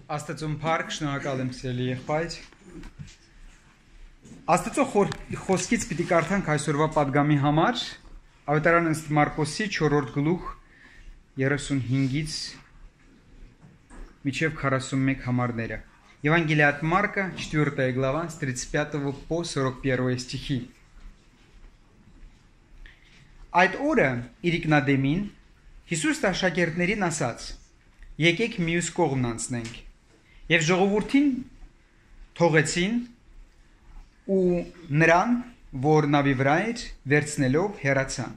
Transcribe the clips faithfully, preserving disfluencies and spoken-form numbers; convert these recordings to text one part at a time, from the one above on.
Աստծուն փառք, շնորհակալ եմ սիրելի եղբայր։ Աստծո խոսքից պիտի կարդանք այսօրվա պատգամի համար Ավետարան ըստ Մարկոսի չորրորդ գլուխ երեսունհինգից մինչև քառասունմեկ համարները։ Евангелие от Марка, четвёртая глава, с тридцать пятого по сорок первый стихи. Այդ օրը իրիկնադեմին Հիսուս աշակերտներին ասաց. Եկեք մյուս կողմն անցնենք։ Եվ ժողովրդին թողեցին ու նրան, որ նավի վրա էր, վերցնելով հեռացան։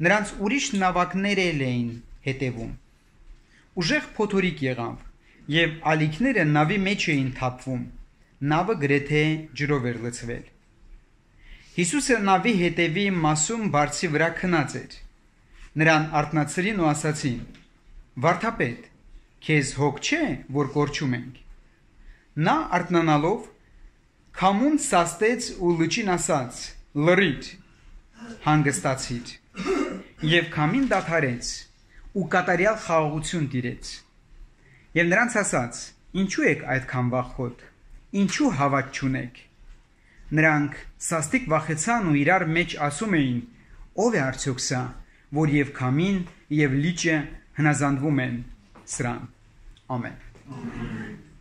Նրանց ուրիշ նավակներ էին հետևում։ Ուժեղ փոթորիկ եղավ, եւ ալիքները նավի մեջ էին թափվում։ Նավը գրեթե ջրով էր լցվել։ Հիսուսը նավի հետևի մասում բարձի վրա քնած էր։ Նրան արթնացրին ու ասացին. Վարդապետ, քեզ հոգ չէ, որ կորչում ենք։ Նա արթնանալով քամուն սաստեց ու լճին ասաց. Լռիր, հանգստացիր։ Եվ քամին դադարեց ու կատարյալ խաղաղություն տիրեց։ Եվ նրանց ասաց. Ինչու եք այդքան վախոտ, ինչու հավատ չունեք։ Նրանք սաստիկ վախեցան ու իրար մեջ ասում էին. Ո՞վ է արդյոք սա, որ եւ քամին եւ լիճը հնազանդվում են սրան։ Ամեն։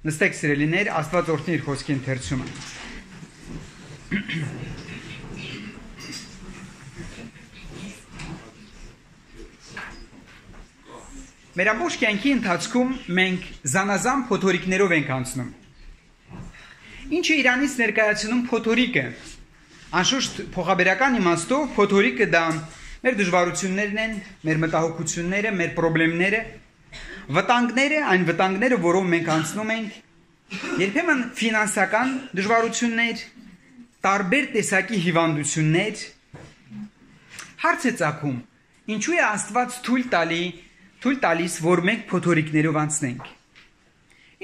Նստեք սիրելիներ, Աստված օրհնի իր խոսքի ընթերցումը։ Մեր ամբողջ կյանքի ընթացքում մենք զանազան փոթորիկներով ենք անցնում։ Ինչը Իրանից ներկայացնում փոթորիկը։ Անշուշտ փոխաբերական իմաստով փոթորիկը դա մեր դժվարություններն են, մեր մտահոգությունները, մեր խնդիրները, վտանգները, այն վտանգները, որով մենք անցնում ենք, երբեմն ֆինանսական դժվարություններ, տարբեր տեսակի հիվանդություններ։ Հարց է ծագում. ինչու է Աստված թույլ տալի, թույլ տալիս, որ մենք փոթորիկներով անցնենք։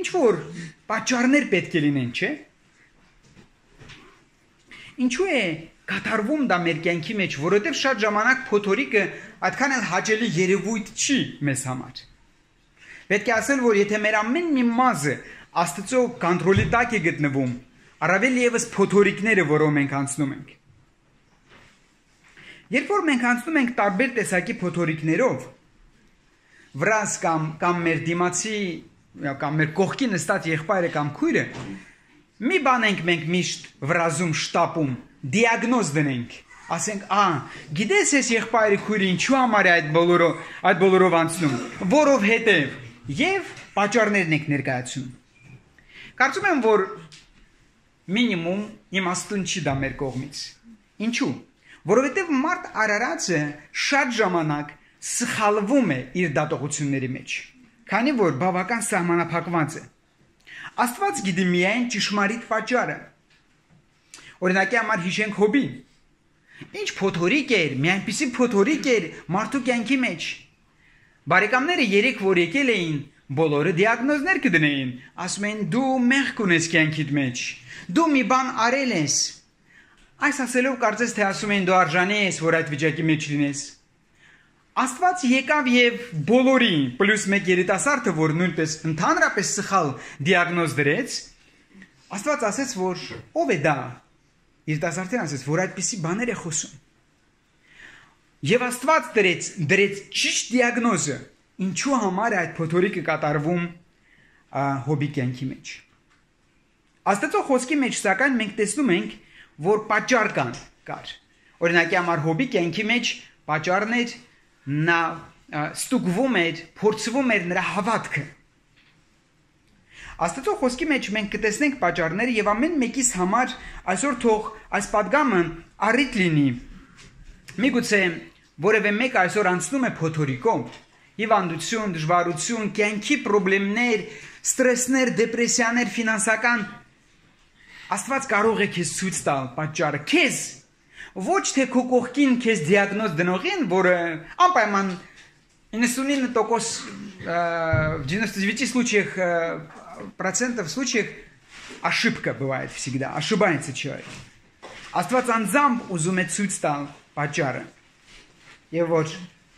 Ինչ որ պատճառներ պետք է լինեն, չէ՞։ Ինչու է կատարվում դա մեր կյանքի մեջ, որովհետև շատ ժամանակ փոթորիկը այդքան էլ հաճելի երևույթ չի մեզ համար։ Պետք է ասել, որ եթե մեր ամեն մի մազը Աստծո կոնտրոլի տակ է գտնվում, առավել ևս փոթորիկները, որով մենք անցնում ենք։ Երբ որ մենք անցնում ենք տարբեր տեսակի փոթորիկներով, վրաս կամ կամ մեր դիմացի կամ մեր կողքի նստած եղբայրը կամ քույրը, մի բան ենք մենք միշտ վրազում շտապում, դիագնոզ դնենք, ասենք, ա, գիտես ես եղբայրը քույրը ինչու համար է այդ բոլորով, այդ բոլորով անցնում, որովհետև եւ պատճառներն ենք ներկայացնում։ Կարծում եմ, որ մինիմում իմաստուն չի դա մեր կողմից։ Ինչու՞։ Որովհետև մարդ արարածը շատ ժամանակ սխալվում է իր դատողությունների մեջ, քանի որ բավական սահմանափակված է։ Աստված գիտի միայն ճշմարիտ պատճառը։ Օրինակի համար հիշենք Հոբին։ Ինչ փոթորիկ էր, մի այնպիսի փոթորիկ էր մարդու կյանքի մեջ։ Բարեկամները երեք որ եկել էին, բոլորը դիագնոզներ կդնեին, ասում են դու մեղք ունես կյանքիդ մեջ, դու մի բան արել ես։ Այս ասելով կարծես թե ասում են դու արժանի ես, որ այդ վիճակի մեջ լինես։ Աստված եկավ եւ բոլորի պլյուս մեկ երիտասարդը, որ նույնպես ընդհանրապես սխալ դիագնոզ դրեց, Աստված ասեց, որ ով է դա։ Երիտասարդին ասեց, որ այդպիսի բաներ է խոսում։ Եվ Աստված դրեց, դրեց ճիշտ դիագնոզը, ինչու համար է այդ փոթորիկը կատարվում Հոբի կյանքի մեջ։ Աստծո խոսքի մեջ սակայն մենք տեսնում ենք, որ պատճառ կան կար։ Օրինակի համար Հոբի կյանքի մեջ պատճառն էր նա ստուգվում էր, փորձվում էր նրա հավատքը։ Աստծո խոսքի մեջ մենք կտեսնենք պատճառները եւ ամեն մեկիս համար այսօր թող այս պատգամը առիթ լինի։ Միգուցե որևէ մեկ այսօր անցնում է փոթորիկով, հիվանդություն, դժվարություն, կյանքի խնդիրներ, ստրեսներ, դեպրեսիաներ, ֆինանսական, Աստված կարող է քեզ ցույց տալ պատճառը, քեզ ոչ թե քո կողքին քեզ դիագնոզ дногին, որը անպայման девяносто девять процентов, в девяноста девяти случаях, процентов случаях ошибка бывает всегда, ошибается человек. Աստված անձամբ ուզում է ցույց տալ պատճառը։ Եվ որ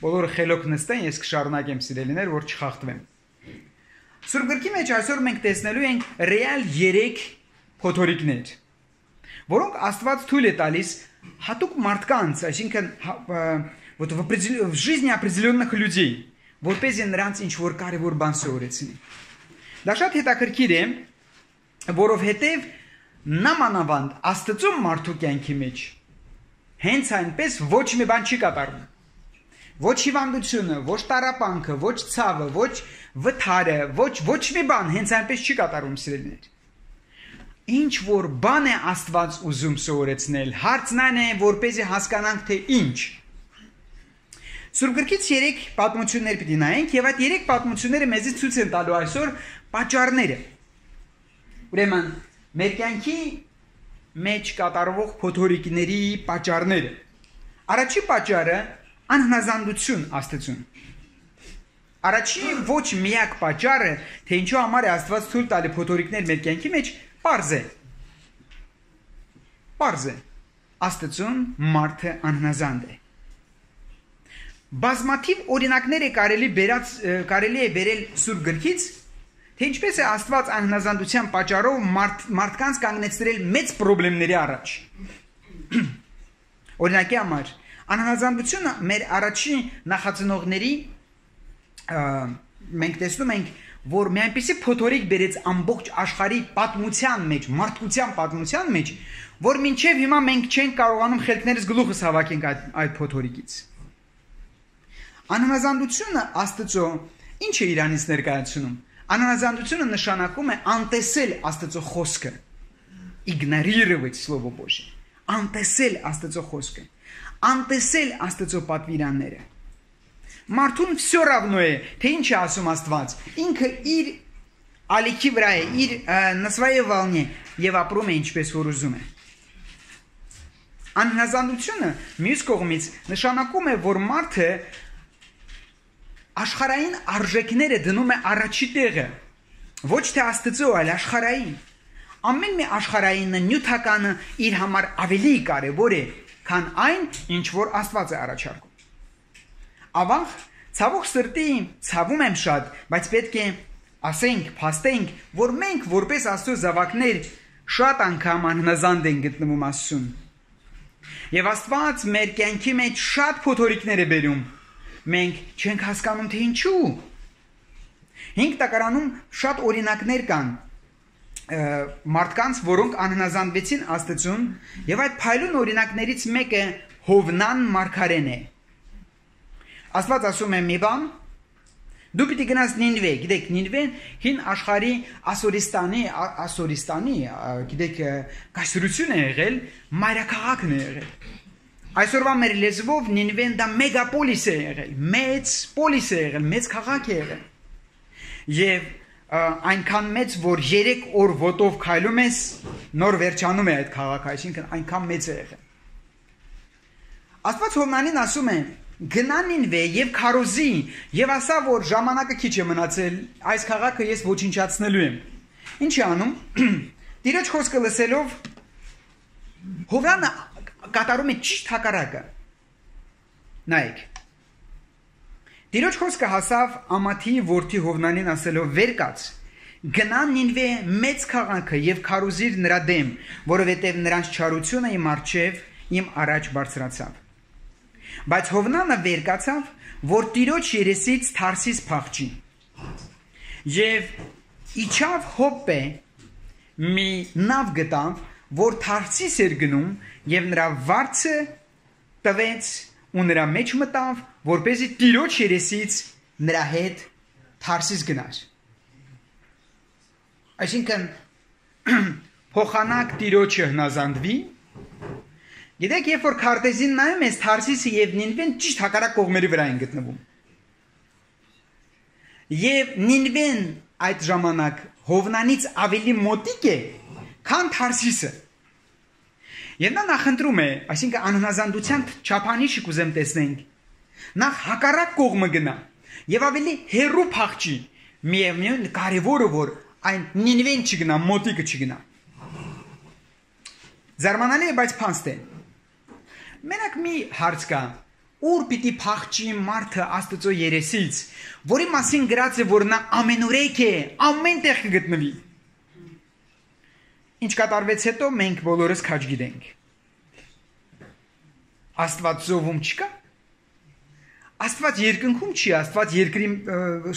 բոլորը խելոք նստեն, ես կշարունակեմ սիրելիներ, որ չխախտվեմ։ Սուրբ գրքի մեջ այսօր մենք տեսնելու ենք ռեալ երեք փոթորիկներ, որոնք Աստված թույլ է տալիս հատուկ մարդկանց, այսինքն вот в жизни определенных людей, որպես նրանց ինչ որ կարևոր բան սովորեցնի։ Դա շատ հետաքրքիր է, որովհետև նամանավանդ Աստծո մարդու կյանքի մեջ հենց այնպես ոչ մի բան չի կատարվում։ Ոչ հիվանդությունը, ոչ տառապանքը, ոչ ցավը, ոչ վթարը, ոչ ոչ մի բան հենց այնպես չի կատարվում, սիրելիներ։ Ինչ որ բան է Աստված ուզում սովորեցնել, հարցն այն է, որպեսզի հասկանանք, թե ինչ։ Սուրբ գրքից երեք պատմություններ պիտի նայենք, եւ այդ երեք պատմությունները մեզի ցույց են տալու այսօր պատճառները։ Ուրեմն, մեր կյանքի մեջ կատարվող փոթորիկների պատճառները։ Առաջի պատճառը անհնազանդություն Աստծուն։ Առաջի ոչ միակ պատճառը, թե ինչու համար է Աստված թույլ տալի փոթորիկներ մեր կյանքի մեջ, պարզ է։ Պարզ է։ Աստծուն մարդը անհնազանդ է։ Բազմաթիվ օրինակներ է կարելի բերած կարելի է բերել Սուրբ գրքից, թե ինչպես է Աստված անհնազանդության պատճառով մարդ, մարդկանց կանգնեցրել մեծ խնդիրների առաջ։ Օրինակի համար, անհնազանդությունը մեր առաջի նախածնողների մենք տեսնում ենք, որ մի այնպիսի փոթորիկ բերեց ամբողջ աշխարհի պատմության մեջ, մարդկության պատմության մեջ, որ մինչև հիմա մենք չենք կարողանում խելքներս գլուխս հավաքենք այդ, այդ փոթորիկից։ Անհնազանդությունը Աստծո ինչ է իրանից ներկայացնում։ Անհնազանդությունը նշանակում է անտեսել Աստծո խոսքը, игнорировать слово Божье, անտեսել Աստծո խոսքը, անտեսել Աստծո պատվիրանները։ Մարդուն всё равно է, թե ինչ է ասում Աստված, ինքը իր ալիքի վրա է, իր на своей волне եւ ապրում է ինչպես որ ուզում է։ Անհնազանդությունը մյուս կողմից նշանակում է, որ մարդը աշխարհային արժեքները դնում է առաջի տեղը, ոչ թե Աստծո, այլ աշխարհային։ Ամեն մի աշխարհայինը նյութականը իր համար ավելի կարևոր է, քան այն, ինչ որ Աստված է առաջարկում։ Ավաղ, ցավոք սրտի, ցավում եմ շատ, բայց պետք է ասենք, փաստենք, որ մենք որպես Աստծո զավակներ շատ անգամ անհնազանդ ենք գտնվում Աստծուն։ Եվ Աստված մեր կյանքի մեջ շատ փոթորիկներ է բերում։ Մենք չենք հասկանում, թե ինչու։ Հինգ տակարանում շատ օրինակներ կան մարդկանց, որոնք անհնազանդվեցին Աստծուն, եւ այդ փայլուն օրինակներից մեկը Հովնան մարգարեն է։ Աստված ասում է մի բան, դու պիտի գնաս Նինվե, գիտեք, Նինվեն հին աշխարհի Ասորիստանի, Ասորիստանի, գիտեք, կայսրություն է եղել, մայրաքաղաքն է եղել։ Այսօրվա մեր լեզվով Նինվեն դա մեգապոլիս է եղել, մեծ պոլիս է եղել, մեծ քաղաք է եղել։ Եվ այնքան մեծ, որ երեք օր ոտով քայլում ես, նոր վերջանում է այդ քաղաքը, այսինքն այնքան մեծ է եղել։ Աստված Հովնանին ասում է. գնա Նինվե եւ քարոզի եւ ասա, որ ժամանակը քիչ է մնացել, այս քաղաքը ես ոչնչացնելու եմ։ Ինչ է անում։ Տիրոջ խոսքը լսելով Հովնանը կատարում է ճիշտ հակառակը։ Նայեք։ Տիրոջ խոսքը հասավ Ամաթի որդի Հովնանին ասելով. վեր կաց, գնա Նինվե մեծ քաղաքը եւ քարոզիր նրա դեմ, որովհետեւ նրանց չարությունը իմ առջեւ իմ առաջ բարձրացավ։ Բայց Հովնանը վեր կացավ, որ Տիրոջ երեսից Թարսիս փախչի։ Եվ իջավ Հոպե մի նավ գտավ, որ Թարսիս էր գնում, եւ նրա վարձը տվեց ու նրա մեջ մտավ, որպեսզի Տիրոջ երեսից նրա հետ Թարսիս գնար։ Այսինքն փոխանակ Տիրոջը հնազանդվի։ Գիտեք, երբ որ քարտեզին նայում ես, Թարսիսը եւ Նինվեն ճիշտ հակառակ կողմերի վրա են գտնվում։ Եվ Նինվեն այդ ժամանակ Հովնանից ավելի մոտիկ է, քան Թարսիսը։ Եվ նա նախընտրում է, այսինքն անհնազանդության չափանիշը կուզեմ տեսնենք, նախ հակառակ կողմը գնա եւ ավելի հեռու փախչի, միևնույն կարևորը որ այն Նինվեն չգնա, մոտիկը չգնա։ Զարմանալի է, բայց փաստ է։ Մենակ մի հարց կա, ուր պիտի փախչի մարդը Աստծո երեսից, որի մասին գրած է, որ նա ամենուրեք է, ամենտեղ կգտնվի։ Ինչ կատարվեց հետո մենք բոլորս քաջ գիտենք։ Աստված զովում չկա։ Աստված երկնքում չի, Աստված երկրի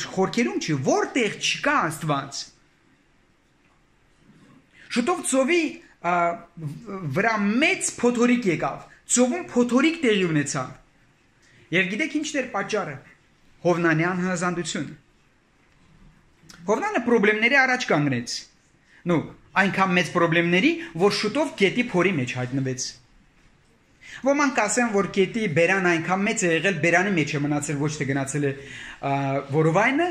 խորքերում չի, որտեղ չկա Աստված։ Շուտով ծովի վրա մեծ փոթորիկ եկավ, ծովում փոթորիկ տեղի ունեցավ։ Եվ գիտեք ինչն էր պատճառը։ Հովնանյան հնազանդությունը։ Հովնանը խնդիրների առաջ կանգնեց։ Նու, այնքան մեծ խնդիրների, որ շուտով գետի փորի մեջ հայտնվեց։ Ոմանք ասեն, որ գետի բերան այնքան մեծ է եղել, բերանի մեջ է մնացել, ոչ թե գնացել է որովայնը,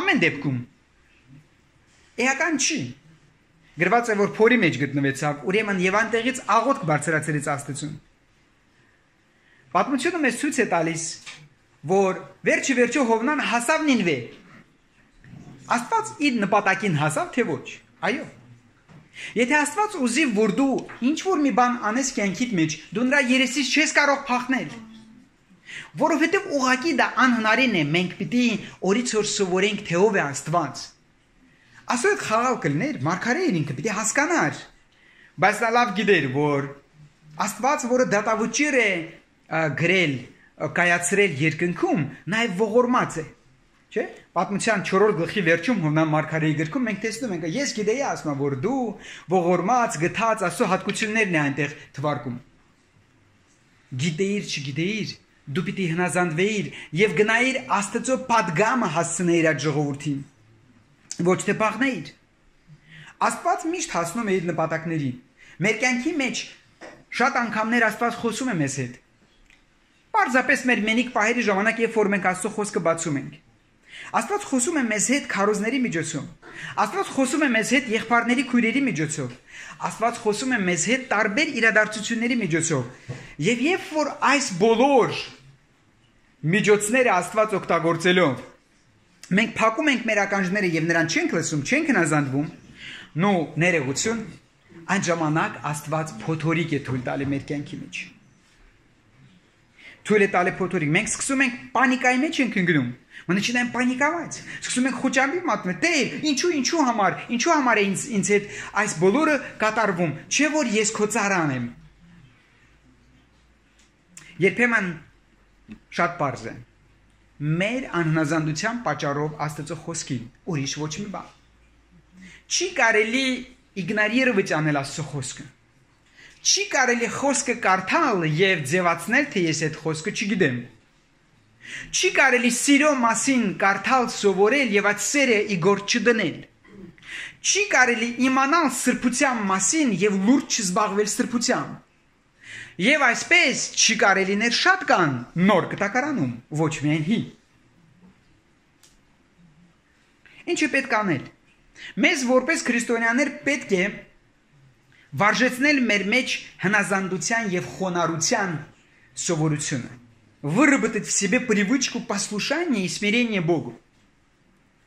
ամեն դեպքում։ Էական չի։ Գրված է, որ փորի մեջ գտնվեցավ, ուրեմն եւ այնտեղից աղոթք բարձրացրեց Աստծուն։ Պատմությունը մեզ ցույց է տալիս, որ վերջի վերջո Հովնան հասավ Նինվե։ Աստված իր նպատակին հասավ, թե ոչ։ Այո։ Եթե Աստված ուզի, որ դու ինչ որ մի բան անես կյանքիդ մեջ, դու նրա երեսից չես կարող փախնել։ Որովհետև ուղղակի դա անհնարին է, մենք պիտի օրից օր սովորենք, թե ով է Աստված։ Ասո այդ խաղալ կլներ, մարգարեին ինքը պիտի հասկանար, բայց նա լավ գիտեր, որ Աստված, որը դատավճիռ է գրել, կայացրել երկնքում, նաև ողորմած է, չէ՞։ Պատմության չորրորդ գլխի վերջում Հովնան մարգարեի գրքում մենք տեսնում ենք, ես գիտեի, ասում եմ, որ դու ողորմած, գթած, Աստծո հատկություններն է այնտեղ թվարկում։ Գիտեիր, չգիտեիր, դու պիտի հնազանդվեիր եւ գնայիր Աստծո պատգամը հասցնեիր այդ ժողովրդին։ Ոչ թե փախնեիր։ Աստված միշտ հասնում է իր նպատակներին։ Մեր կյանքի մեջ շատ անգամներ Աստված խոսում է մեզ հետ։ Պարզապես մեր մենիկ պահերի ժամանակ, երբ որ մենք Աստծո խոսքը բացում ենք։ Աստված խոսում է մեզ հետ քարոզների միջոցով։ Աստված խոսում է մեզ հետ եղբայրների քույրերի միջոցով։ Աստված խոսում է մեզ հետ տարբեր իրադարձությունների միջոցով։ Եվ երբ որ այս բոլոր միջոցները Աստված օգտագործելով մենք փակում ենք մեր ականջները եւ նրան չենք լսում, չենք հնազանդվում, նո ներողություն, այն ժամանակ Աստված փոթորիկ է թույլ տալի մեր կյանքի մեջ։ Թույլ է տալի փոթորիկ։ Մենք սկսում ենք պանիկայի մեջ ենք ընկնում։ Մնացին պանիկավայց։ Սկսում ենք խոճապի մատնել։ Տեր, ինչու, ինչու համար, ինչու համար է ինձ ինձ հետ այս բոլորը կատարվում, չէ՞ որ ես քո ծառան եմ։ Երբեմն շատ པարզ է։ Մեր անհնազանդության պատճառով Աստծո խոսքին, ուրիշ ոչ մի բան։ Չի կարելի իգնորировать անել Աստծո խոսքը։ Չի կարելի խոսքը կարդալ եւ ձևացնել, թե ես այդ խոսքը չգիտեմ։ Չի կարելի սիրո մասին կարդալ, սովորել եւ այդ սերը իգործ չդնել։ Չի կարելի իմանալ սրբության մասին եւ լուրջ չզբաղվել սրբությամբ։ Եվ այսպես չի կարելիներ շատ կան նոր կտակարանում, ոչ միայն հի։ Ինչ է պետք անել։ Մեզ որպես քրիստոնյաներ պետք է վարժեցնել մեր մեջ հնազանդության եւ խոնարհության սովորությունը։ Выработать в себе привычку послушания и смирения Богу.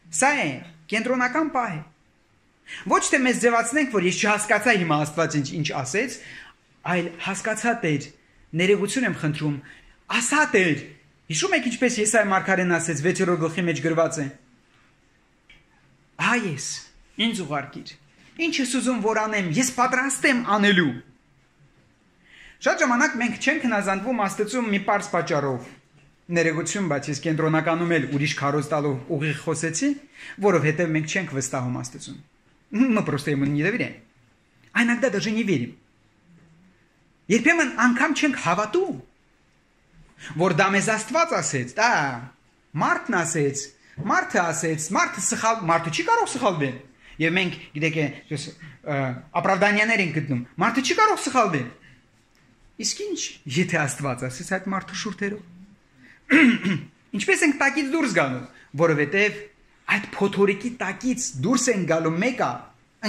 Սա է կենտրոնական պահը։ Ոչ թե մեզ ձևացնենք, որ ես չհասկացա հիմա Աստված ինչ ինչ ասեց, այլ հասկացա Տեր, ներողություն եմ խնդրում, ասա Տեր։ Հիշում եք ինչպես Եսայիա մարգարեն ասեց վեցերորդ գլխի մեջ գրված է. Ահա ես, ինձ ուղարկիր։ Ինչ ես ուզում որ անեմ, ես պատրաստ եմ անելու։ Շատ ժամանակ մենք չենք հնազանդվում Աստծուն մի պարզ պատճառով։ Ներողություն, բայց ես կենտրոնականում էլ ուրիշ քարոզ տալով ուղիղ խոսեցի, որովհետև մենք չենք վստահում Աստծուն։ Мы просто ему не доверяем. А иногда даже не верим. Երբեմն անգամ չենք հավատում, որ դա մեզ Աստված ասեց, դա մարդն ասեց, մարդը ասեց, մարդը սխալ, մարդը չի կարող սխալվել։ Եվ մենք գիտեք, ապրավդանիաներ ենք գտնում, մարդը չի կարող սխալվել։ Իսկ ինչ, եթե Աստված ասեց այդ մարդու շուրթերով։ Ինչպես ենք տակից դուրս գալու, որովհետև այդ փոթորիկի տակից դուրս են գալու մեկը,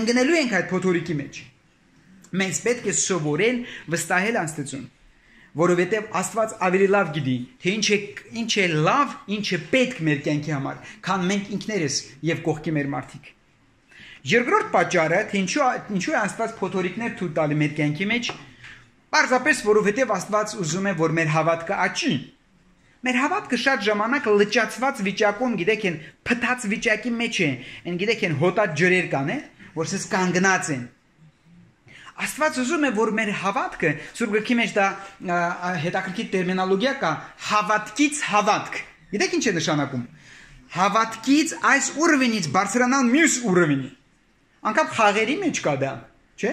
ընկնելու ենք այդ փոթորիկի մեջ։ Մենք պետք է սովորել վստահել Աստծուն, որովհետև Աստված ավելի լավ գիտի, թե ինչ է ինչ է լավ, ինչ է պետք մեր կյանքի համար, քան մենք ինքներս եւ կողքի մեր մարդիկ։ Երկրորդ պատճառը, թե ինչու ինչու է Աստված փոթորիկներ թույլ տալի մեր կյանքի մեջ, Պարզապես որովհետև Աստված ուզում է, որ մեր հավատքը աճի։ Մեր հավատքը շատ ժամանակ լճացված վիճակում, գիտեք, են փթած վիճակի մեջ է, են գիտեք, են հոտած ջրեր կան, որ սես կանգնած են։ Աստված ուզում է, որ մեր հավատքը, Սուրբ Գրքի մեջ դա հետաքրքիր տերմինոլոգիա կա, հավատքից հավատք։ Գիտեք ինչ է նշանակում։ Հավատքից այս ուռվինից բարձրանալ մյուս ուռվինի։ Անկապ խաղերի մեջ կա դա, չէ՞։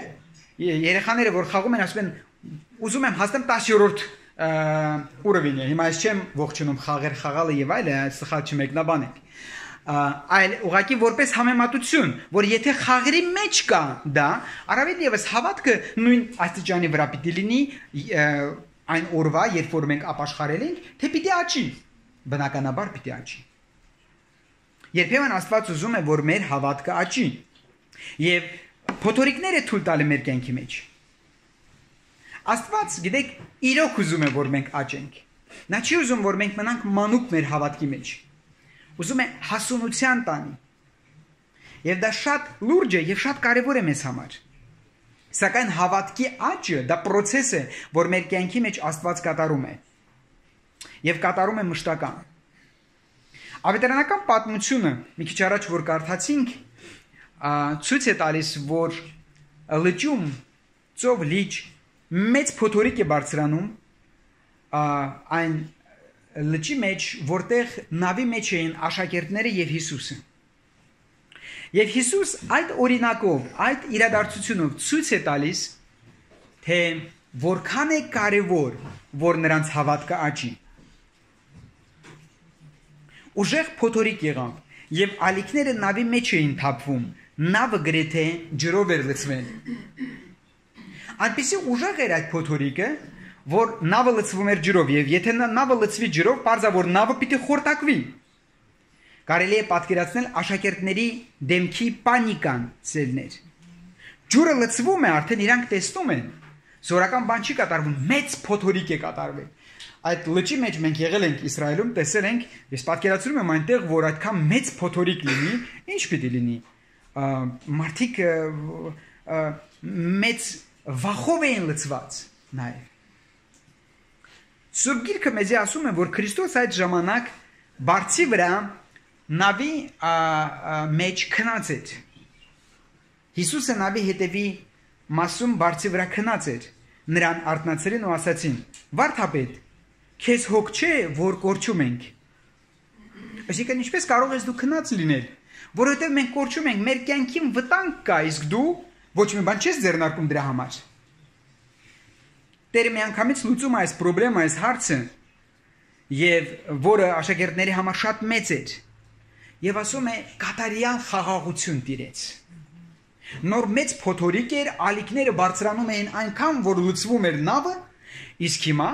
Երեխաները որ խաղում են, ասում են, ուզում եմ հասնեմ տասներորդ ուռվինը։ Հիմա ես չեմ ողջունում խաղեր խաղալը եւ այլը, սխալ չմեկնաբանեք։ Այլ ուղղակի որպես համեմատություն, որ եթե խաղերի մեջ կա դա, առավել եւս հավատքը նույն աստիճանի վրա պիտի լինի այն օրվա, երբ որ մենք ապաշխարել ենք, թե պիտի աճի, բնականաբար պիտի աճի։ Երբեմն Աստված ուզում է, որ մեր հավատքը աճի, եւ փոթորիկները թույլ տալը մեր կյանքի մեջ։ Աստված, գիտեք, իրոք ուզում է, որ մենք աճենք։ Նա չի ուզում, որ մենք մնանք մանուկ մեր հավատքի մեջ։ Ուզում է հասունության տանի։ Եվ դա շատ լուրջ է եւ շատ կարեւոր է մեզ համար։ Սակայն հավատքի աճը դա process է, որ մեր կյանքի մեջ Աստված կատարում է։ Եվ կատարում է մշտական։ Ավետարանական պատմությունը, մի քիչ առաջ որ կարդացինք, ցույց է տալիս, որ լճում ծով լիճ մեծ փոթորիկ է բարձրանում այն լճի մեջ, որտեղ նավի մեջ էին աշակերտները եւ Հիսուսը։ Եվ Հիսուս այդ օրինակով, այդ իրադարձությունով ցույց է տալիս, թե որքան է կարևոր, որ նրանց հավատքը աճի։ Ուժեղ փոթորիկ եղավ եւ ալիքները նավի մեջ էին թափվում, նավը գրեթե ջրով էր լցվել։ Այնպեսի ուժեղ էր այդ փոթորիկը, որ նավը լցվում էր ջրով եւ եթե նավը լցվի ջրով, բարձա որ նավը պիտի խորտակվի։ Կարելի է պատկերացնել աշակերտների դեմքի պանիկան ցելներ։ Ջուրը լցվում է, արդեն իրանք տեսնում են։ Զորական բան չի կատարվում, մեծ փոթորիկ է կատարվել։ Այդ լճի մեջ մենք եղել ենք Իսրայելում, տեսել ենք, ես պատկերացնում եմ այնտեղ, որ այդքան մեծ փոթորիկ լինի, ինչ պիտի լինի։ Մարդիկ մեծ վախով էին լցված նաև։ Սուրբ Գիրքը մեզ ասում է, որ Քրիստոս այդ ժամանակ բարձի վրա նավի մեջ քնած էր։ Հիսուսը նավի հետևի մասում բարձի վրա քնած էր։ Նրան արթնացրին ու ասացին. «Վարդապետ, քեզ հոգ չէ, որ կորչում ենք»։ Այսինքն ինչպես կարող ես դու քնած լինել, որովհետև մենք կորչում ենք, մեր կյանքին վտանգ կա, իսկ դու ոչ մի բան չես ձեռնարկում դրա համար։ Տերը միանգամից լուծում է այս խնդրը, այս հարցը, եւ որը աշակերտների համար շատ մեծ էր, եւ ասում է կատարյալ խաղաղություն տիրեց։ Նոր մեծ փոթորիկ էր, ալիքները բարձրանում էին այնքան, որ լուծվում էր նավը, իսկ հիմա,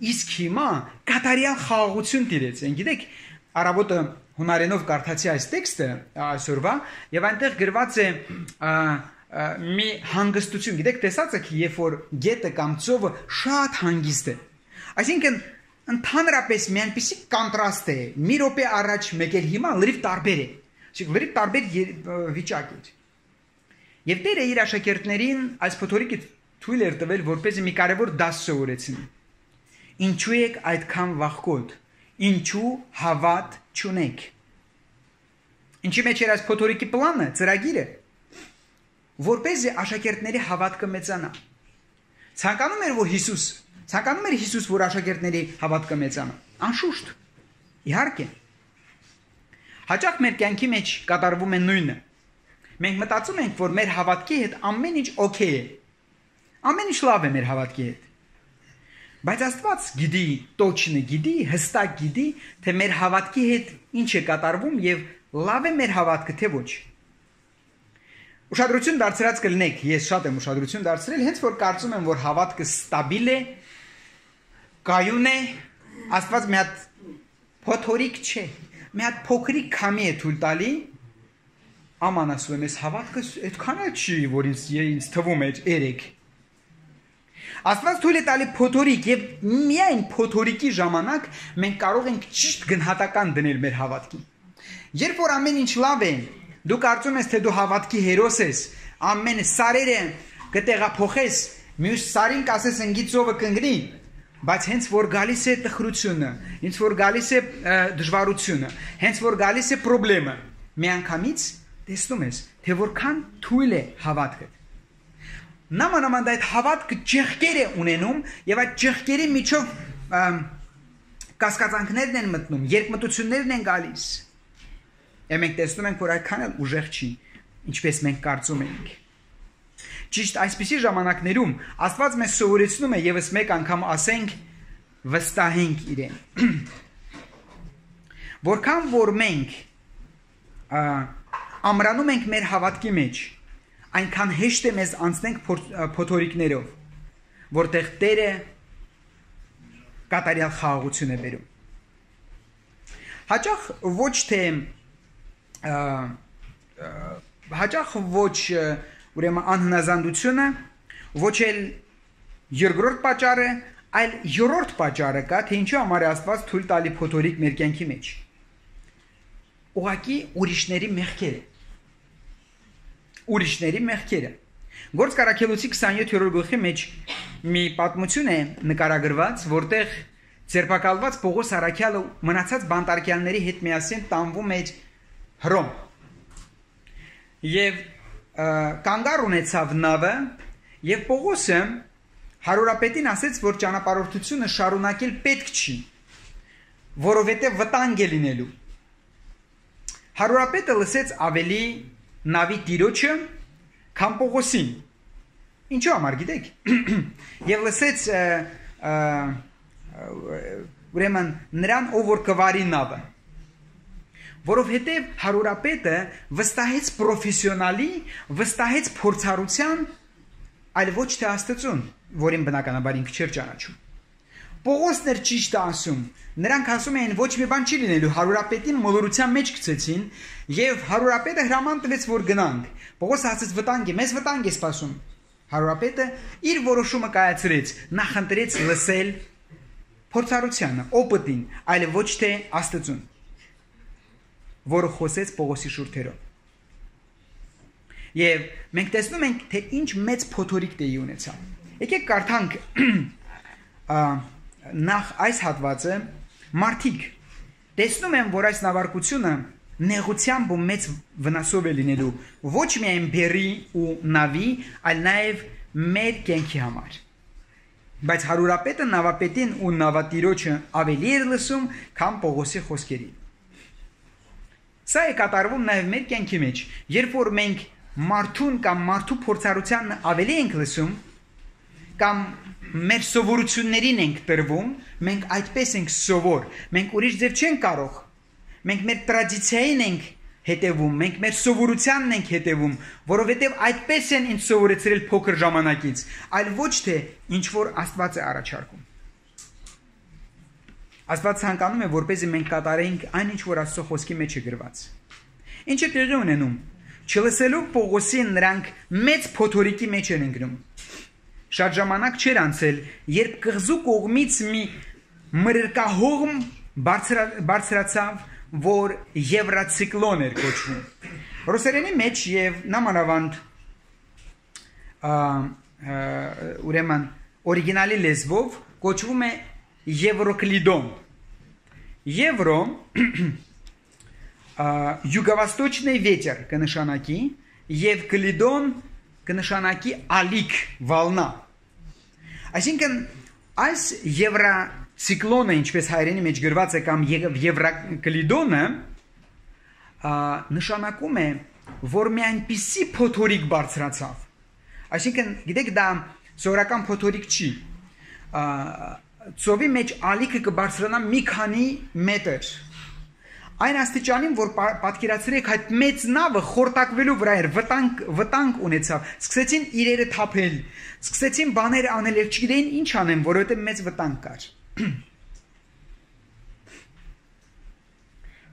իսկ հիմա կատարյալ խաղաղություն տիրեց։ Են գիտեք, առավոտը հունարենով կարդացի այս տեքստը այսօրվա, եւ այնտեղ գրված է մի հանգստություն, գիտեք, տեսած եք, երբ որ գետը կամ ծովը շատ հանգիստ է։ Այսինքն ընդհանրապես մի այնպիսի կոնտրաստ է, մի րոպե առաջ մեկ էլ հիմա լրիվ տարբեր է։ Այսինքն լրիվ տարբեր վիճակ է։ Եվ Տերը իր աշակերտներին այս փոթորիկը թույլ էր տվել, որպեսզի մի կարևոր դաս սովորեցնի։ Ինչու եք այդքան վախկոտ, ինչու հավատ չունեք։ Ինչի մեջ էր այս փոթորիկի պլանը, ծրագիրը, որպեսզի աշակերտների հավատքը մեծանա։ Ցանկանում էր որ Հիսուս, ցանկանում էր Հիսուս, որ աշակերտների հավատքը մեծանա։ Անշուշտ, իհարկե։ Հաճախ մեր կյանքի մեջ կատարվում է նույնը։ Մենք մտածում ենք, որ մեր հավատքի հետ ամեն ինչ օքեյ է։ Ամեն ինչ լավ է մեր հավատքի հետ։ Բայց Աստված գիտի, точно գիտի, հստակ գիտի, թե մեր հավատքի հետ ինչ է կատարվում եւ լավ է մեր հավատքը, թե ոչ։ Ուշադրություն դարձրած կլինեք, ես շատ եմ ուշադրություն դարձրել, հենց որ կարծում եմ, որ հավատքը ստաբիլ է, կայուն է, Աստված մի հատ փոթորիկ չէ, մի հատ փոքրիկ քամի է թույլ տալի, աման ասում եմ, ես հավատքը այդքան էլ չի, որ ինձ, ինձ թվում է երեք։ Աստված թույլ է տալի փոթորիկ եւ միայն փոթորիկի ժամանակ մենք կարող ենք ճիշտ գնահատական դնել մեր հավատքին։ Երբ որ ամեն ինչ լավ է, դու կարծում ես, թե դու հավատքի հերոս ես, ամեն սարերը կտեղափոխես Մյուս սարին կասես ընկի ծովը կընկնի, բայց հենց որ գալիս է տխրությունը, հենց որ գալիս է դժվարությունը, հենց որ գալիս է խնդրեմը, միանգամից տեսնում ես, թե որքան թույլ է հավատքը։ Նամանավանդ այդ հավատքը ճեղքեր է ունենում եւ այդ ճեղքերի միջով կասկածանքներն են մտնում, երկմտություններն են գալիս։ Եվ մենք տեսնում ենք, որ այդքան էլ ուժեղ չի, ինչպես մենք կարծում ենք։ Ճիշտ այսպիսի ժամանակներում Աստված մեզ սովորեցնում է եւս մեկ անգամ ասենք վստահենք իրեն։ Որքան որ մենք ամրանում ենք մեր հավատքի մեջ, այնքան հեշտ է մեզ անցնենք փոթորիկներով, որտեղ Տերը կատարյալ խաղաղություն է բերում։ Հաճախ ոչ թե հաճախ ոչ ուրեմն անհնազանդությունը, ոչ էլ երկրորդ պատճառը, այլ երրորդ պատճառը կա, թե ինչու համար է Աստված թույլ տալի փոթորիկ մեր կյանքի մեջ։ Ուղղակի ուրիշների մեղքերը։ Ուրիշների մեղքերը։ Գործք Առաքելոցի քսանյոթերորդ գլխի մեջ մի պատմություն է նկարագրված, որտեղ ձերբակալված Պողոս առաքյալը մնացած բանտարկյալների հետ միասին տանվում էր Հռոմ։ Եվ կանգառ ունեցավ նավը, եւ Պողոսը հարուրապետին ասեց, որ ճանապարհորդությունը շարունակել պետք չի, որովհետեւ վտանգ է լինելու։ Հարուրապետը լսեց ավելի նավի տիրոջը, քան Պողոսին։ Ինչու՞ համար գիտեք։ Եվ լսեց ուրեմն նրան, ով որ կվարի նավը։ Որովհետև հարուրապետը վստահեց պրոֆեսիոնալի, վստահեց փորձառության, այլ ոչ թե Աստծուն, որին բնականաբար ինքը չէր ճանաչում։ Պողոսն էր ճիշտը ասում, նրանք ասում էին ոչ մի բան չի լինելու, հարուրապետին մոլորության մեջ գցեցին, եւ հարուրապետը հրաման տվեց, որ գնանք։ Պողոսը ասաց վտանգ է, մեզ վտանգ է սպասում։ Հարուրապետը իր որոշումը կայացրեց, նախընտրեց լսել փորձառությանը, օպտին, այլ ոչ թե Աստծուն, որը խոսեց Պողոսի շուրթերով։ Եվ մենք տեսնում ենք, թե ինչ մեծ փոթորիկ տեղի ունեցավ։ Եկեք կարդանք նախ այս հատվածը, մարդիկ տեսնում են, որ այս նավարկությունը նեղությամբ ու մեծ վնասով է լինելու ոչ միայն բերի ու նավի, այլ նաև մեր կյանքի համար։ Բայց հարուրապետը նավապետին ու նավատիրոջը ավելի էր լսում, քան Պողոսի խոսքերին։ Սա է կատարվում նաև մեր կյանքի մեջ, երբ որ մենք մարդուն կամ մարդու փորձառության ավելի ենք լսում, կամ մեր սովորություններին ենք տրվում, մենք այդպես ենք սովոր, մենք ուրիշ ձև չենք կարող, մենք մեր տրադիցիային ենք հետևում, մենք մեր սովորությանն ենք հետևում, որովհետև այդպես են ինձ սովորեցրել փոքր ժամանակից, այլ ոչ թե ինչ որ Աստված է առաջարկում։ Աստված ցանկանում է, որպեսզի մենք կատարենք այն ինչ որ Աստծո խոսքի մեջ է գրված։ Ինչ է տեղի ունենում։ Չլսելու Պողոսին նրանք մեծ փոթորիկի մեջ են ընկնում։ Շատ ժամանակ չէր անցել, երբ կղզու կողմից մի մրրկահողմ բարձրացավ, որ եվրացիկլոն էր կոչվում։ Ռուսերենի մեջ եւ նամանավանդ ուրեմն օրիգինալի լեզվով կոչվում է Евроклидон. Евро юго-восточный ветер կնշանակի եւ Клидон կնշանակի ալիք, վալնա։ Այսինքն այս եվրացիկլոնը, ինչպես հայերենի մեջ գրված է, կամ եվրակլիդոնը նշանակում է, որ մի այնպիսի փոթորիկ բարձրացավ։ Այսինքն, գիտեք, դա սովորական փոթորիկ չի։ Ծովի մեջ ալիքը կբարձրանա մի քանի մետր։ Այն աստիճանին, որ պատկերացրեք այդ մեծ նավը խորտակվելու վրա էր, վտանգ, վտանգ ունեցավ, սկսեցին իրերը թափել, սկսեցին բաներ անել, չգիտեին ինչ անեն, որովհետև մեծ վտանգ կար։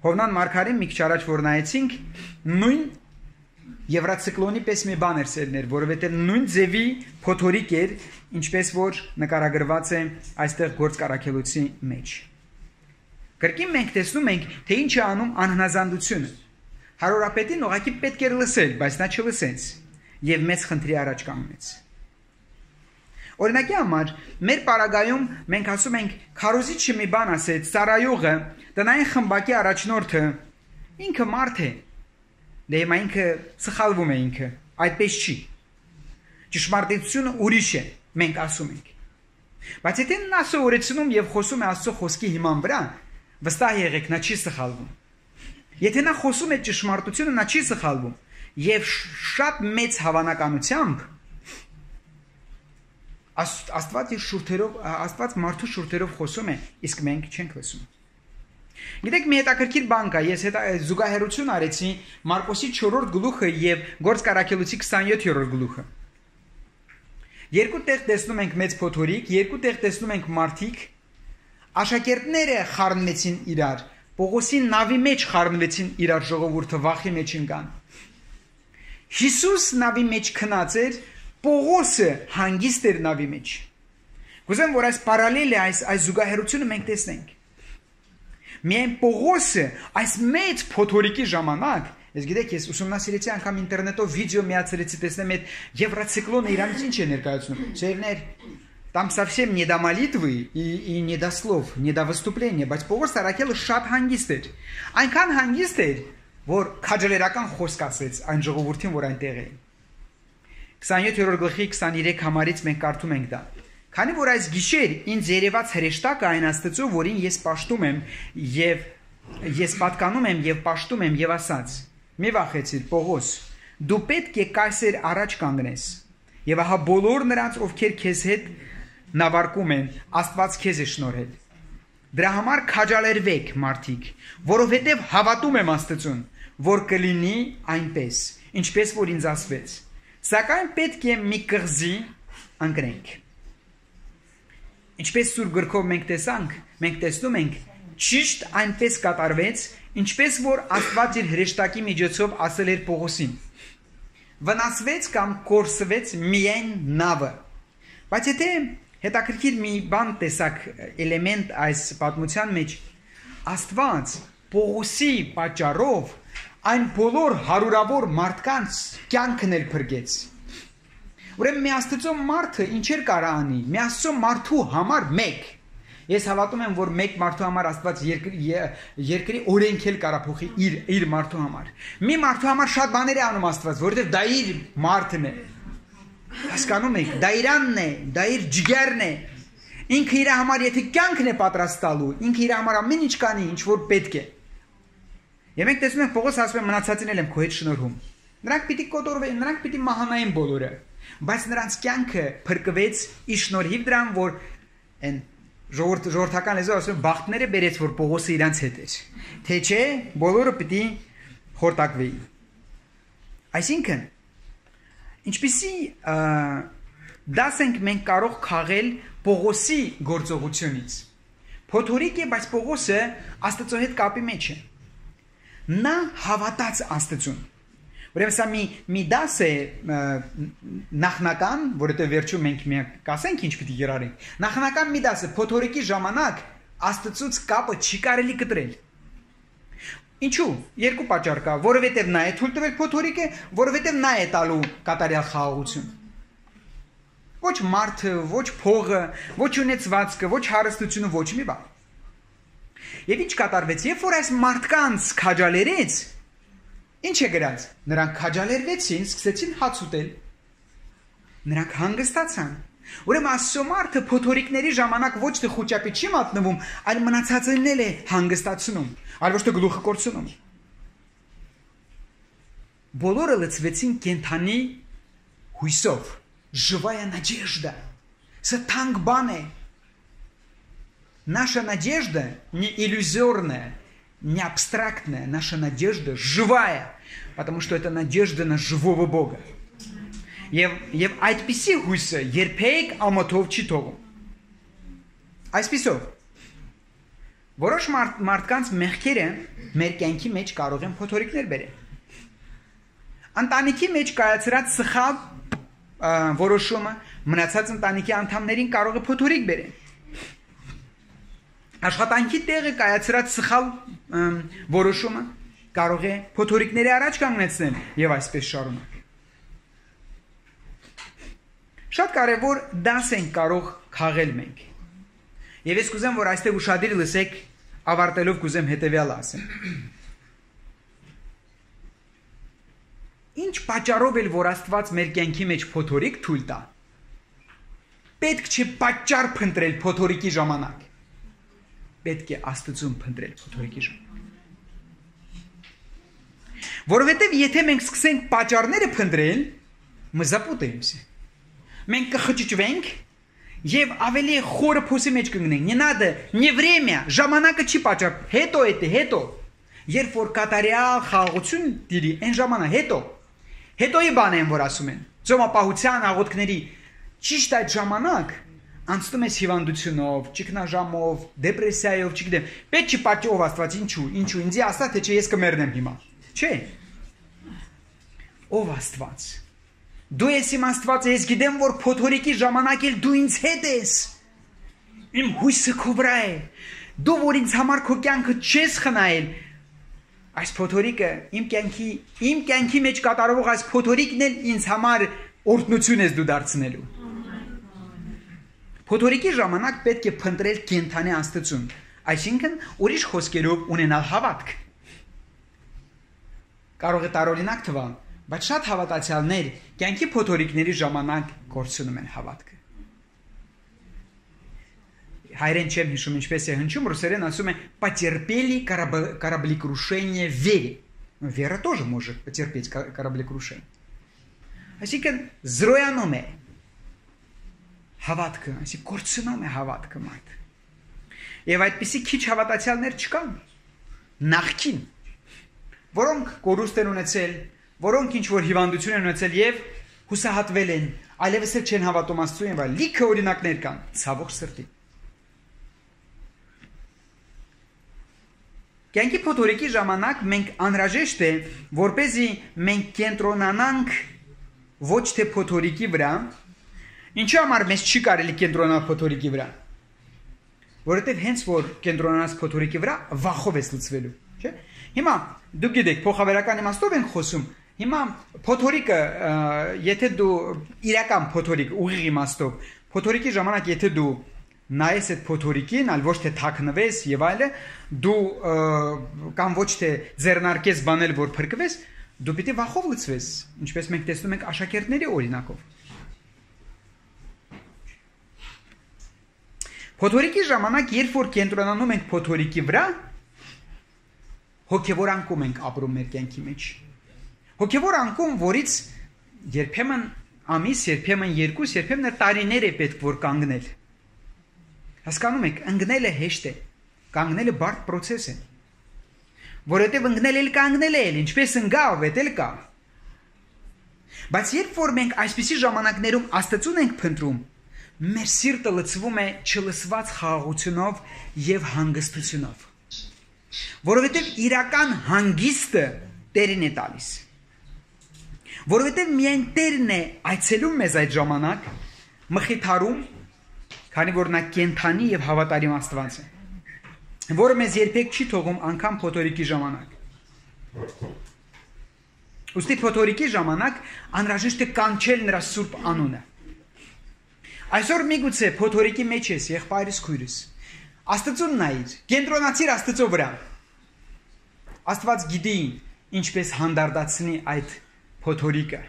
Հովնան Մարգարին մի քիչ առաջ որ նայեցինք, նույն Եվրացիկլոնի պես մի բան էր սերներ, որովհետև նույն ձևի փոթորիկ էր, ինչպես որ նկարագրված է այստեղ Գործք Առաքելոցի մեջ։ Կրկին մենք տեսնում ենք, թե ինչ է անում անհնազանդությունը։ Հարուրապետին ուղղակի պետք էր լսել, բայց նա չլսեց եւ մեծ խնդրի առաջ կանգնեց։ Օրինակի համար մեր պարագայում մենք ասում ենք քարոզիչը մի բան ասեց, ծառայողը, տնային խմբակի առաջնորդը ինքը մարդ է։ Դե հիմա ինքը սխալվում է ինքը, այդպես չի։ Ճշմարտությունը ուրիշ է, մենք ասում ենք։ Բայց եթե նա սովորեցնում եւ խոսում է Աստծո խոսքի հիման վրա, վստահ եղեք, նա չի սխալվում։ Եթե նա խոսում է ճշմարտությունը, նա չի սխալվում։ Եվ շատ մեծ հավանականությամբ Աստված իր շուրթերով, Աստված մարդու շուրթերով խոսում է, իսկ մենք չենք լսում։ Գիտեք, մի հետաքրքիր բան կա, ես հետա զուգահեռություն արեցի Մարկոսի չորրորդ գլուխը եւ Գործք առաքելոցի քսանյոթերորդ գլուխը։ Երկու տեղ տեսնում ենք մեծ փոթորիկ, երկու տեղ տեսնում ենք մարդիկ, աշակերտները խառնվեցին իրար, Պողոսի նավի մեջ խառնվեցին իրար, ժողովուրդը վախի մեջ ընկան։ Հիսուս նավի մեջ քնած էր, Պողոսը հանգիստ էր նավի մեջ։ Կուզեմ, որ այս պարալելը, այս այս զուգահեռությունը մենք տեսնենք։ Միայն Պողոսը այս մեծ փոթորիկի ժամանակ, ես գիտեք, ես ուսումնասիրեցի անգամ ինտերնետով վիդեո միացրեցի, տեսնեմ այդ Եվրոցիկլոնը իրանից ինչ է ներկայացնում։ Սերներ, там совсем не до молитвы и, и не до слов, не до выступления, բայց Պողոս Արաքելը շատ հանգիստ էր։ Այնքան հանգիստ էր, որ քաջալերական խոսք ասեց այն ժողովրդին, որ այնտեղ էին։ քսանյոթերորդ գլխի քսաներեք համարից մենք կարդում ենք դա։ Քանի որ այս գիշեր ինձ երևաց հրեշտակը այն Աստծո, որին ես պաշտում եմ եւ ես պատկանում եմ եւ պաշտում եմ եւ ասաց. Մի վախեցիր, Պողոս, դու պետք է կայսեր առաջ կանգնես։ Եվ ահա բոլոր նրանց, ովքեր քեզ հետ նավարկում են, Աստված քեզ է շնորհել։ Դրա համար քաջալերվեք, մարդիկ, որովհետև հավատում եմ Աստծուն, որ կլինի այնպես, ինչպես որ ինձ ասվեց։ Սակայն պետք է մի կղզի ընկնենք։ Ինչպես Սուրբ գրքով մենք տեսանք, մենք տեսնում ենք, ճիշտ այնպես կատարվեց, ինչպես որ Աստված իր հրեշտակի միջոցով ասել էր Պողոսին։ Վնասվեց կամ կորսվեց միայն նավը։ Բայց եթե հետաքրքիր մի բան տեսակ էլեմենտ այս պատմության մեջ, Աստված Պողոսի պատճառով այն բոլոր հարյուրավոր մարդկանց կյանքն էլ փրկեց։ Ուրեմն մի Աստծո մարդը ինչեր կարող անի, մի Աստծո մարդու համար մեկ։ Ես հավատում եմ, որ մեկ մարդու համար Աստված երկրի երկրի օրենք էլ կարող փոխի իր իր մարդու համար։ Մի մարդու համար շատ բաներ է անում Աստված, որովհետև դա իր մարդն է։ Հասկանում եք, դա իրանն է, դա իր ջիգերն է։ Ինքը իր համար եթե կյանքն է պատրաստ տալու, ինքը իր համար ամեն ինչ կանի, ինչ որ պետք է։ Եվ մենք տեսնում ենք Պողոս ասում է մնացածին էլ եմ քո հետ շնորհում։ Նրանք պիտի կոտորվեն, նրանք պիտի մահանային բոլորը, բայց նրանց կյանքը փրկվեց ի շնորհիվ դրան, որ այն ժողովրդ ժողովրդական լեզվով ասում բախտները բերեց, որ Պողոսը իրանց հետ էր։ Թե չէ, բոլորը պիտի խորտակվեին։ Այսինքն, ինչպիսի դաս ենք մենք կարող քաղել Պողոսի գործողությունից։ Փոթորիկ է, բայց Պողոսը Աստծո հետ կապի մեջ է։ Նա հավատաց Աստծուն։ Ուրեմն սա մի մի դաս է նախնական, որովհետև վերջում մենք մի կասենք ինչ պիտի երարենք։ Նախնական մի դաս է փոթորիկի ժամանակ Աստծուց կապը չի կարելի կտրել։ Ինչու՞։ Երկու պատճառ կա, որովհետև նա է թույլ տվել փոթորիկը, որովհետև նա է տալու կատարյալ խաղաղություն։ Ոչ մարդը, ոչ փողը, ոչ ունեցվածքը, ոչ հարստությունը, ոչ մի բան։ Եվ ինչ կատարվեց, երբ որ այս մարդկանց քաջալերեց, ինչ է գրած։ Նրանք քաջալերվեցին, սկսեցին հաց ուտել։ Նրանք հանգստացան։ Ուրեմն Աստծո մարդը փոթորիկների ժամանակ ոչ թե խոճապի չի մատնվում, այլ մնացածն էլ է հանգստացնում, այլ ոչ թե գլուխը կորցնում։ Բոլորը լցվեցին կենթանի հույսով։ Живая надежда. Це танк баны. Наша надежда не иллюзорная, не абстрактная. Наша надежда живая, потому что это надежда на живого Бога. Եվ եւ այդպիսի հույսը երբեք ամոթով չի թողում։ Այսպիսով որոշ մարդ, մարդկանց մեղքերը մեր կյանքի մեջ կարող են փոթորիկներ բերել։ Ընտանիքի մեջ կայացրած սխալ որոշումը մնացած ընտանիքի անդամներին կարող է փոթորիկ բերել։ Աշխատանքի տեղը կայացրած սխալ որոշումը կարող է փոթորիկների առաջ կանգնեցնել եւ այսպես շարունակ։ Շատ կարևոր դաս ենք կարող քաղել մենք։ Եվ ես կուզեմ, որ այստեղ ուշադիր լսեք, ավարտելով կուզեմ հետևյալը ասեմ։ Ինչ պատճառով էլ որ Աստված մեր կյանքի մեջ փոթորիկ թույլ տա, պետք չէ պատճառ փնտրել փոթորիկի ժամանակ։ Պետք է Աստծուն փնտրել փոթորիկի ժամանակ։ Որովհետև եթե մենք սկսենք պատճառները փնտրել, մզապուտեիմся։ Մենք կխճճվենք եւ ավելի խորը փոսի մեջ կգնենք։ Не надо, не время, ժամանակը չի պատճառ, հետո է, հետո։ Երբ որ կատարյալ խաղաղություն դիրի, այն ժամանակ հետո։ Հետոյի բան են, որ ասում են։ Ծոմապահության աղոթքների ճիշտ այդ ժամանակ անցնում ես հիվանդությունով, ճգնաժամով, դեպրեսիայով, չգիտեմ։ Պետք չի պատճով Աստված ինչու, ինչու ինձ ասա թե չէ ես կմեռնեմ հիմա։ Չէ։ Ով Աստված։ Դու ես իմ Աստվածը, ես գիտեմ, որ փոթորիկի ժամանակ էլ դու ինձ հետ ես։ Իմ հույսը քո վրա է։ Դու որ ինձ համար քո կյանքը չես խնայել, այս փոթորիկը իմ կյանքի, իմ կյանքի մեջ կատարվող այս փոթորիկն էլ ինձ համար օրհնություն ես դու դարձնելու։ Փոթորիկի ժամանակ պետք է փնտրել կենթանի Աստծուն, այսինքն ուրիշ խոսքերով ունենալ հավատք։ Կարող է տարօրինակ թվալ, բայց շատ հավատացյալներ կյանքի փոթորիկների ժամանակ կորցնում են հավատքը։ Հայերեն չեմ հիշում ինչպես է հնչում, ռուսերեն ասում է потерпели кораблекрушение в вере. Вера тоже может потерпеть кораблекрушение. Այսինքն զրոյանում է հավատքը, այսինքն կորցնում է հավատքը մարդ։ Եվ այդպիսի քիչ հավատացյալներ չկան։ Նախքին, որոնք կորուստ են ունեցել, որոնք ինչ որ հիվանդություն են ունեցել եւ հուսահատվել են, այլևս չեն հավատում Աստծուն, բայց լիքը օրինակներ կան, ցավոք սրտի։ Կյանքի փոթորիկի ժամանակ մենք անհրաժեշտ է, որպեսզի մենք կենտրոնանանք ոչ թե փոթորիկի վրա, ինչու համար մեզ չի կարելի կենտրոնալ փոթորիկի վրա, որովհետև հենց որ կենտրոնանաս փոթորիկի վրա, վախով ես լուծվելու, չէ՞։ Հիմա դուք գիտեք, փոխավերական իմաստով ենք խոսում, հիմա փոթորիկը, եթե դու իրական փոթորիկ ուղիղ իմաստով, փոթորիկի ժամանակ եթե դու նայես այդ փոթորիկին, այլ ոչ թե թաքնվես եւ այլը, դու կամ ոչ թե ձեռնարկես բանել, որ փրկվես, դու պիտի վախով լցվես, ինչպես մենք տեսնում ենք աշակերտների օրինակով։ Փոթորիկի ժամանակ, երբ որ կենտրոնանում ենք փոթորիկի վրա, հոգևոր անկում ենք ապրում մեր կյանքի մեջ։ Հոգևոր անկում, որից երբեմն ամիս, երբեմն երկուս, երբեմն տարիներ է պետք որ կանգնել։ Հասկանում եք, ընկնելը հեշտ է, կանգնելը բարդ process է։ Որովհետև ընկնել էլ կանգնել էլ, ինչպես ընկավ, էդ էլ կա։ Բայց երբ որ մենք այսպիսի ժամանակներում Աստծուն ենք փնտրում, մեր սիրտը լցվում է չլսված խաղաղությունով եւ հանգստությունով։ Որովհետև իրական հանգիստը Տերին է տալիս։ Որովհետև միայն Տերն է այցելում մեզ այդ ժամանակ, մխիթարում, քանի որ նա կենթանի եւ հավատարիմ Աստված է, որը մեզ երբեք չի թողում անգամ փոթորիկի ժամանակ։ Ուստի փոթորիկի ժամանակ անհրաժեշտ է կանչել նրա սուրբ անունը։ Այսօր միգուցե փոթորիկի մեջ ես, եղբայրս, քույրս, Աստծուն նայիր, կենտրոնացիր Աստծո վրա։ Աստված գիտի ինչպես հանդարտացնի այդ փոթորիկը։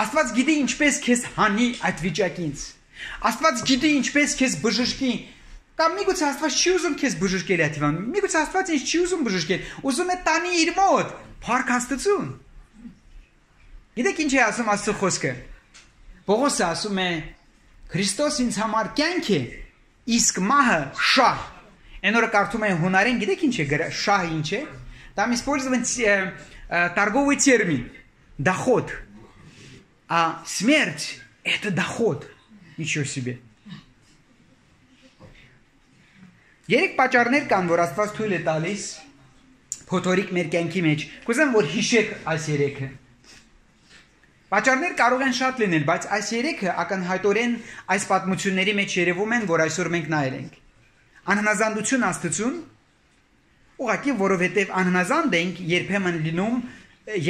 Աստված գիտի ինչպես քեզ հանի այդ վիճակից։ Աստված գիտի ինչպես քեզ բժշկի։ Կամ միգուցե Աստված չի ուզում քեզ բժշկել այդ հիվանդ։ Միգուցե Աստված ինձ չի ուզում բժշկել, ուզում է տանի իր մոտ, փառք Աստծուն։ Գիտեք ինչ է ասում Աստծո խոսքը։ Պողոսը ասում է. Քրիստոս ինձ համար կյանք է, իսկ մահը շահ։ Այն օրը կարդում եմ հունարեն, գիտեք ինչ է շահ ինչ է։ Там использован торговый термин доход. А смерть это доход. Ничего себе. Երեք պատճառներ կան, որ Աստված թույլ է տալիս փոթորիկ մեր կյանքի մեջ։ Կուզեմ որ հիշեք այս երեքը։ Պատճառներ կարող են շատ լինել, բայց այս երեքը ակնհայտորեն այս պատմությունների մեջ երևում են, որ այսօր մենք նայել ենք։ Անհնազանդություն Աստծուն, ուղղակի որովհետև անհնազանդ ենք, երբեմն լինում,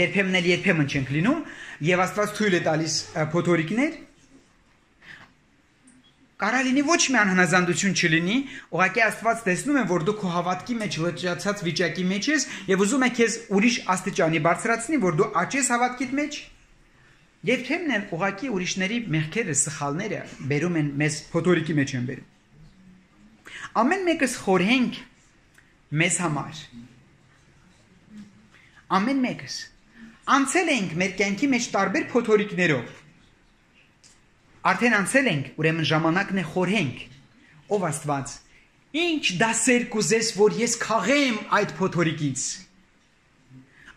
երբեմն էլ երբեմն չենք լինում, եւ Աստված թույլ է տալիս փոթորիկներ, Կարա լինի ոչ մի անհնազանդություն չլինի, ուղղակի Աստված տեսնում է, որ դու քո հավատքի մեջ լճացած վիճակի մեջ ես եւ ուզում է քեզ ուրիշ աստիճանի բարձրացնի, որ դու աճես հավատքիդ մեջ։ Եվ թեմն են ուղղակի ուրիշների մեղքերը, սխալները բերում են մեզ փոթորիկի մեջ են բերում։ Ամեն մեկս խորհենք մեզ համար։ Ամեն մեկս անցել ենք մեր կյանքի մեջ տարբեր փոթորիկներով։ Արդեն անցել ենք, ուրեմն ժամանակն է խորհենք։ Ով Աստված, ինչ դասեր կուզես, որ ես քաղեմ այդ փոթորիկից։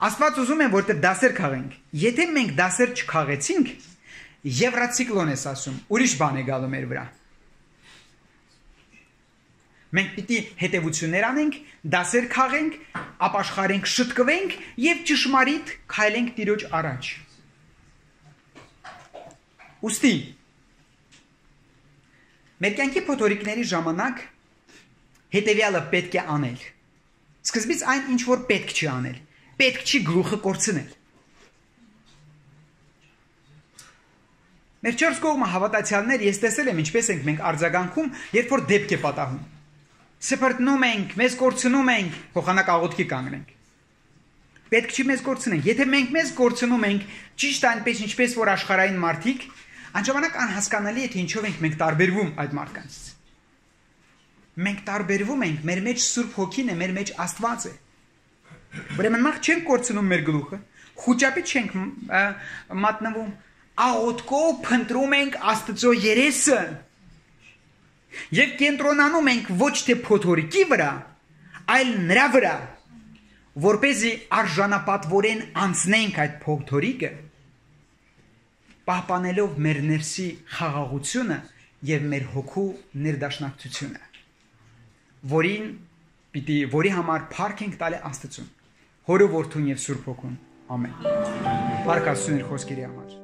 Աստված ուզում է, որտեղ դասեր քաղենք։ Եթե մենք դասեր չքաղեցինք, եվրացիկլոն ես ասում, ուրիշ բան է գալու մեր վրա։ Մենք պիտի հետևություններ անենք, դասեր քաղենք, ապաշխարենք, շտկվենք եւ ճշմարիտ քայլենք Տիրոջ առաջ։ Ոստի մեր կյանքի փոթորիկների ժամանակ հետևյալը պետք է անել։ Սկզբից այն ինչ որ պետք չի անել, պետք չի գլուխը կորցնել։ Մեր չորս կողմը հավատացյալներ, ես տեսել եմ ինչպես ենք մենք արձագանքում, երբ որ դեպք է պատահում։ Սփռտնում ենք, մեզ կորցնում ենք, փոխանակ աղոթքի կանգնենք։ Պետք չի մեզ կորցնենք։ Եթե մենք մեզ կորցնում ենք, ճիշտ այնպես ինչպես որ աշխարհային մարդիկ, անժամանակ անհասկանալի է թե ինչով ենք մենք տարբերվում այդ մարդկանցից։ Մենք տարբերվում ենք, մեր մեջ Սուրբ Հոգին է, մեր մեջ Աստված է։ Ուրեմն մենք չենք կորցնում մեր գլուխը, խոճապի չենք մատնվում, աղոթքով փնտրում ենք Աստծո երեսը։ Եվ կենտրոնանում ենք ոչ թե փոթորիկի վրա, այլ նրա վրա, որպեսզի արժանապատվորեն անցնենք այդ փոթորիկը, պահպանելով մեր ներսի խաղաղությունը եւ մեր հոգու ներդաշնակցությունը, որին պիտի որի համար փառք ենք տալի Աստծուն, Հորը, Որդուն եւ Սուրբ Հոգուն։ Ամեն։ Փառք Աստծուն իր խոսքերի համար։